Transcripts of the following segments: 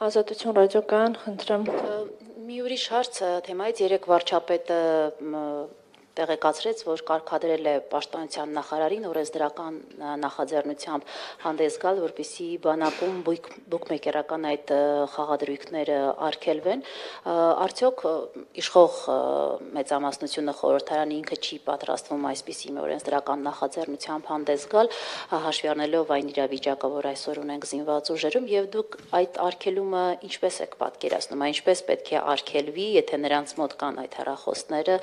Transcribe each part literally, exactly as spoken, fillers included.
Ազատություն ռադիոկայան, խնդրեմ։ Մի ուրիշ հարց թեմայից երեք վարչապետը տեղեկացրեց, որ կարգադրել է պաշտպանության նախարարին օրենսդրական նախաձեռնությամբ հանդես գալ, որպեսզի բանակում բուկմեկերական այդ խաղադրույքները արգելվեն։ Արդյոք իշխող մեծամասնությունը խորհրդարանի ինքը չի պատրաստվում այսպիսի մի օրենսդրական նախաձեռնությամբ հանդես գալ, հաշվի առնելով այն իրավիճակը, որ այսօր ունենք զինված ուժերում, եւ դուք այդ արգելումը ինչպես եք պատկերացնում, ինչպես պետք է արգելվի, եթե նրանց մոտ կան այդ հեռախոսները,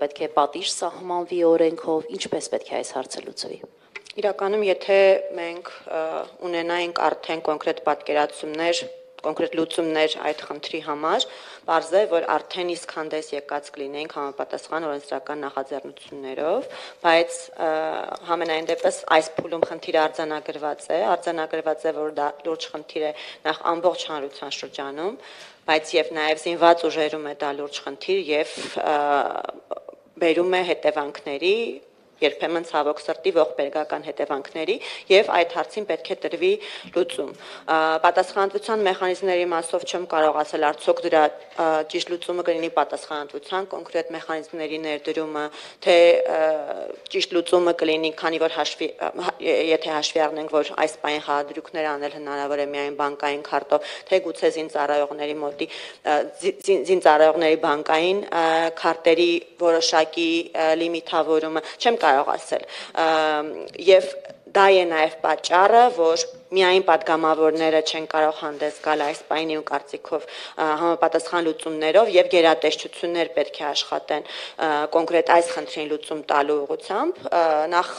պետք է պատիժ սահմանվի օրենքով, ինչպես պետք է այս հարցը լուծվի։ Իրականում, եթե մենք ունենայինք արդեն կոնկրետ պատկերացումներ, կոնկրետ լուծումներ այդ խնդրի համար, պարզ է, որ արդեն իսկ հանդես եկած կլինեինք համապատասխան օրենսդրական նախաձեռնություններով, բայց համենայն դեպս այս փուլում խնդիրը արձանագրված է, արձանագրված է, որ դա լուրջ խնդիր է նախ ամբողջ հանրության շրջանում, բայց եւ նաեւ զինված ուժերում է դա լուրջ խնդիր եւ բերում է հետևանքների, երբեմն ցավոք սրտի ողբերգական հետևանքների եւ այդ հարցին պետք է տրվի լուծում։ Պատասխանատվության մեխանիզմների մասով չեմ կարող ասել արդյոք դրա ճիշտ լուծումը կլինի պատասխանատվության կոնկրետ մեխանիզմների ներդրումը, թե ճիշտ լուծումը կլինի, քանի որ հաշվի եթե հաշվի առնենք, որ այս պահին խաղադրույքներ անել հնարավոր է միայն բանկային քարտով, թե գուցե զինծառայողների մոտի զինծառայողների բանկային քարտերի որոշակի լիմիտավորումը, չեմ կարող ասել, եւ դա է նաեւ պատճառը, որ միայն պատգամավորները չեն կարող հանդես գալ այս պահին ու կարծիքով համապատասխան լուծումներով եւ գերատեսչություններ պետք է աշխատեն կոնկրետ այս խնդրին լուծում տալու ուղղությամբ, նախ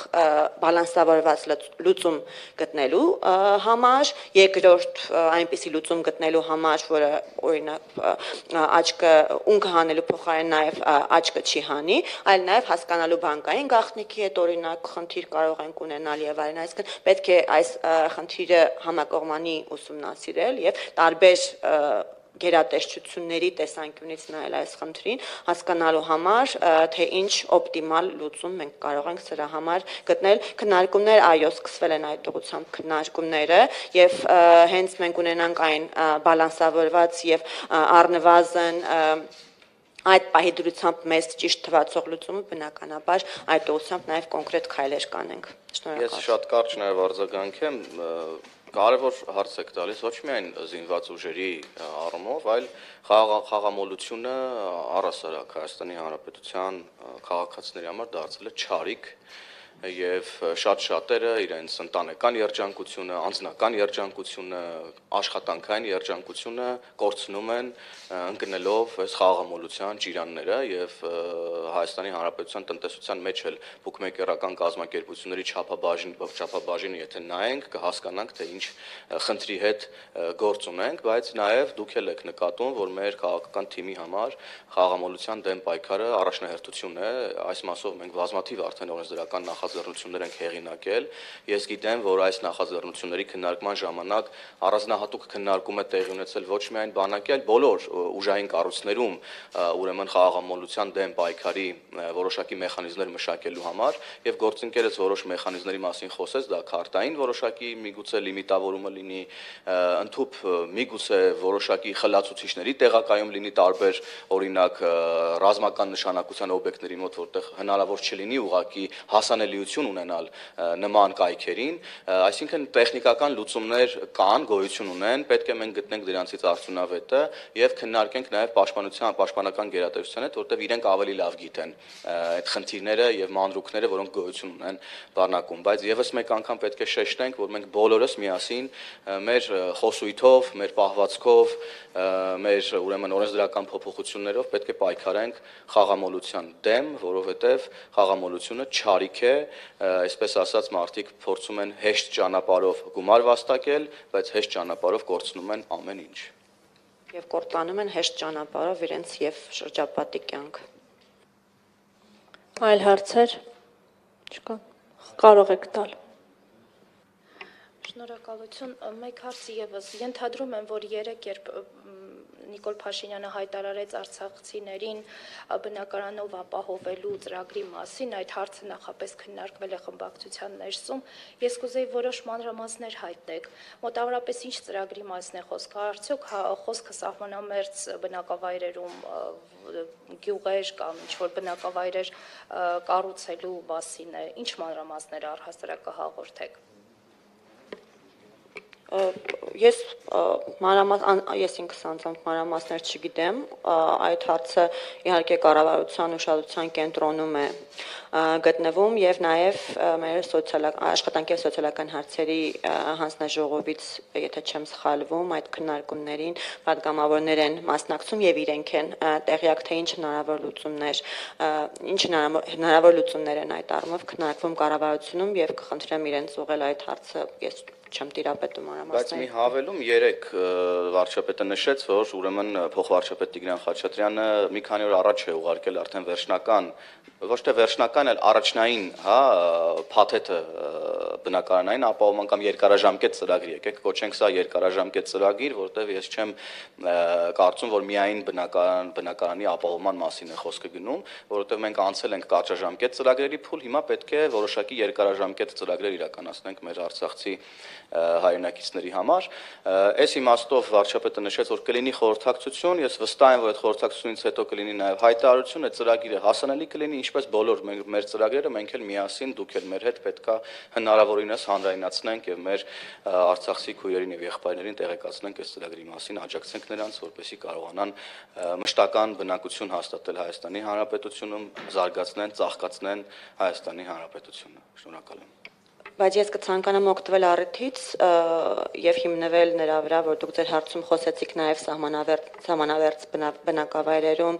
բալանսավորված լուծում գտնելու համար, երկրորդ այնպիսի լուծում գտնելու համար, որը օրինակ աչքը ունքը հանելու փոխարեն նաեւ աչքը չի հանի, այլ նաեւ հասկանալու բանկային գաղտնիքի հետ օրինակ խնդիր կարող ենք ունենալ եւ այլն, այսինքն պետք է այս խնդիրը համակողմանի ուսումնասիրել եւ տարբեր գերատեսչությունների տեսանկյունից նայել այս խնդրին, հասկանալու համար, թե ինչ օպտիմալ լուծում մենք կարող ենք սրա համար գտնել։ Քննարկումներ, այո, սկսվել են այդ ուղղությամբ քննարկումները եւ հենց մենք ունենանք այն բալանսավորված եւ առնվազն այդ պահի դրությամբ մեզ ճիշտ թվացող լուծումը բնականաբար այդ ուղղությամբ նաեւ կոնկրետ քայլեր կանենք։ Շնորհակալ։ Ես շատ կարճ նաեւ արձագանքեմ, կարևոր հարց եք տալիս ոչ միայն զինված ուժերի առումով, այլ խաղամոլությունը առհասարակ Հայաստանի Հանրապետության քաղաքացիների համար դարձել է չարիք եւ շատ շատերը իրենց ընտանեկան երջանկությունը, անձնական երջանկությունը, աշխատանքային երջանկությունը կորցնում են ընկնելով այս խաղամոլության ճիրանները եւ Հայաստանի Հանրապետության տնտեսության մեջ էլ բուկմեկերական կազմակերպությունների չափաբաժին չափաբաժինը եթե նայենք կհասկանանք թե ինչ խնդրի հետ գործ ունենք, բայց նաեւ դուք էլ եք նկատում, որ մեր քաղաքական թիմի համար խաղամոլության դեմ պայքարը առաջնահերթություն է, այս մասով մենք բազմաթիվ արդեն օրենսդրական նախաձեռնություններ ենք հեղինակել։ Ես գիտեմ, որ այս նախաձեռնությունների քննարկման ժամանակ առանձնահատուկ քննարկում է տեղի ունեցել ոչ միայն բանակի, այլ բոլոր ուժային կառույցներում, ուրեմն խաղամոլության դեմ պայքարի որոշակի մեխանիզմներ մշակելու համար եւ գործընկերս որոշ մեխանիզմների մասին խոսեց, դա քարտային որոշակի միգուցե լիմիտավորումը լինի, ընդհանուր միգուցե որոշակի խլացուցիչների տեղակայում լինի տարբեր օրինակ ռազմական նշանակության օբյեկտների մոտ, որտեղ հնարավոր չլինի ուղղակի հասանելիություն ունենալ նման կայքերին, այսինքն տեխնիկական լուծումներ կան, գոյություն ունեն, պետք է մենք գտնենք դրանցից արդյունավետը եւ քննարկենք նաեւ պաշտպանության, պաշտպանական գերատեսչության հետ, որտեղ իրենք ավելի լավ գիտեն այդ խնդիրները եւ մանրուքները, որոնք գոյություն ունեն բանակում, բայց եւս մեկ անգամ պետք է շեշտենք, որ մենք բոլորս միասին մեր խոսույթով, մեր պահվածքով, մեր ուրեմն օրենսդրական փոփոխություններով պետք է պայքարենք խաղամոլության դեմ, որովհետեւ խաղամոլությունը չարիք է, այսպես ասած մարդիկ փորձում են հեշտ ճանապարհով գումար վաստակել, բայց հեշտ ճանապարհով կորցնում են ամեն ինչ։ Եվ կործանում են հեշտ ճանապարհով իրենց եւ շրջապատի կյանք։ Այլ հարցեր չկա։ Կարող եք տալ։ Շնորհակալություն, մեկ հարց եւս, ենթադրում եմ, որ երեք երբ Նիկոլ Փաշինյանը հայտարարեց արցախցիներին բնակարանով ապահովելու ծրագրի մասին, այդ հարցը նախապես քննարկվել է խմբակցության ներսում։ Ես կուզեի որոշ մանրամասներ հայտնեք։ Մոտավորապես ինչ ծրագրի մասին է խոսքը, արդյոք խոսքը սահմանամերձ բնակավայրերում գյուղեր կամ ինչ-որ բնակավայրեր կառուցելու մասին է, ինչ մանրամասներ առհասարակ կհաղորդեք։ Ես մանրամաս ես ինքս անձամբ մանրամասներ չգիտեմ, այդ հարցը իհարկե կառավարության ուշադրության կենտրոնում է գտնվում եւ նաեւ մեր աշխատանքի եւ սոցիալական հարցերի հանձնաժողովից, եթե չեմ սխալվում, այդ քննարկումներին պատգամավորներ են մասնակցում եւ իրենք են տեղյակ թե ինչ հնարավոր լուծումներ, ինչ հնարավոր լուծումներ են այդ առումով քննարկվում կառավարությունում եւ կխնդրեմ իրենց ուղղել այդ հարցը ես չեմ տիրապետում Բայց մանրամասներին։ մի հավելում երեք վարչապետը նշեց, որ ուրեմն փոխվարչապետ Տիգրան Խաչատրյանը մի քանի օր առաջ է ուղարկել արդեն վերջնական, ոչ թե վերջնական, այլ առաջնային, հա, փաթեթը բնակարանային ապահովման կամ երկարաժամկետ ծրագրի, եկեք կոչենք սա երկարաժամկետ ծրագիր, որտեղ ես չեմ կարծում, որ միայն բնակարան բնակարանի ապահովման մասին է խոսքը գնում, որովհետև մենք անցել ենք կարճաժամկետ ծրագրերի փուլ, հիմա պետք է որոշակի երկարաժամկետ ծրագրեր իրականացնենք մեր արցախցի հայրենակիցների համար։ Այս իմաստով վարչապետը նշեց, որ կլինի խորհրդակցություն, ես վստահ եմ, որ այդ խորհրդակցությունից հետո կլինի նաև հայտարարություն, այդ ծրագիրը հասանելի կլինի, ինչպես բոլոր մեր ծրագրերը, մենք էլ միասին, դուք էլ մեր հետ պետքա հնարավորինս հանրայնացնենք եւ մեր արցախցի քույրերին եւ եղբայրներին տեղեկացնենք այս ծրագրի մասին, աջակցենք նրանց, որպեսզի կարողանան մշտական բնակություն հաստատել Հայաստանի Հանրապետությունում, զարգացնեն, ծաղկացնեն Հայաստանի Հանրապետությունը։ Շնորհակալ եմ։ Բայց ես կցանկանամ օգտվել առիթից եւ հիմնվել նրա վրա, որ դուք ձեր հարցում խոսեցիք նաեւ սահմանավերտ սահմանավերտ բնակավայրերում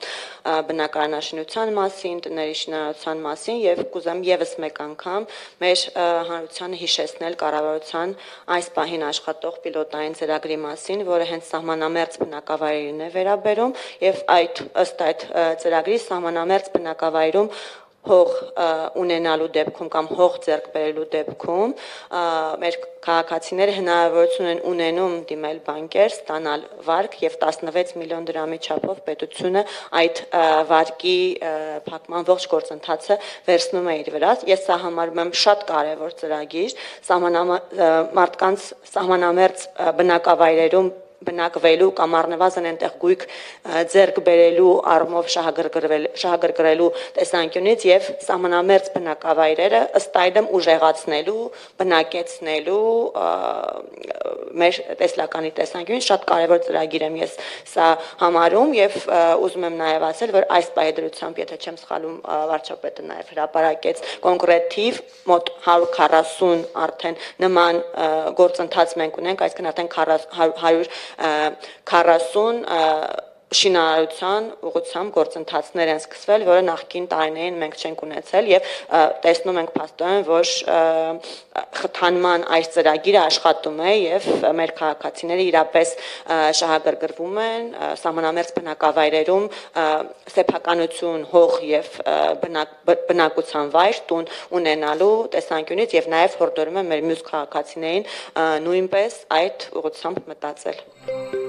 բնակարանաշինության մասին, տների շինարարության մասին եւ կուզեմ եւս մեկ անգամ մեր հանրությանը հիշեցնել կառավարության այս պահին աշխատող պիլոտային ծրագրի մասին, որը հենց սահմանամերձ բնակավայրերին է վերաբերում եւ այդ ըստ այդ ծրագրի սահմանամերձ բնակավայրում հող ունենալու դեպքում կամ հող ձեռք բերելու դեպքում մեր քաղաքացիները հնարավորություն են ունենում դիմել բանկեր, ստանալ վարկ եւ տասնվեց միլիոն դրամի չափով պետությունը այդ վարկի փակման ողջ գործընթացը վերցնում է իր վրա։ Ես սա համարում եմ շատ կարեւոր ծրագիր, մարդկանց սահմանամերձ բնակավայրերում բնակվելու կամ առնվազն այնտեղ գույք ձեռք բերելու առումով շահագրգռելու տեսանկյունից եւ սահմանամերձ բնակավայրերը ըստ այդմ ուժեղացնելու, բնակեցնելու մեր տեսլականի տեսանկյունից շատ կարեւոր ծրագիր եմ ես սա համարում եւ ուզում եմ նաեւ ասել, որ այս պայդրությամբ, եթե չեմ սխալվում, վարչապետը նաեւ հրապարակեց կոնկրետ թիվ, մոտ հարյուր քառասուն արդեն նման գործընթաց մենք ունենք, այսինքն արդեն հարյուր քառասուն շինարարության ուղղությամբ գործընթացներ են սկսվել, որը նախկին տարիներին մենք չենք ունեցել եւ տեսնում ենք փաստորեն, որ խթանման այս ծրագիրը աշխատում է եւ մեր քաղաքացիները իրապես շահագրգռվում են սահմանամերձ բնակավայրերում սեփականություն, հող եւ բնակության վայր, տուն ունենալու տեսանկյունից եւ նաեւ հորդորում եմ մեր մյուս քաղաքացիներին նույնպես այդ ուղղությամբ մտածել։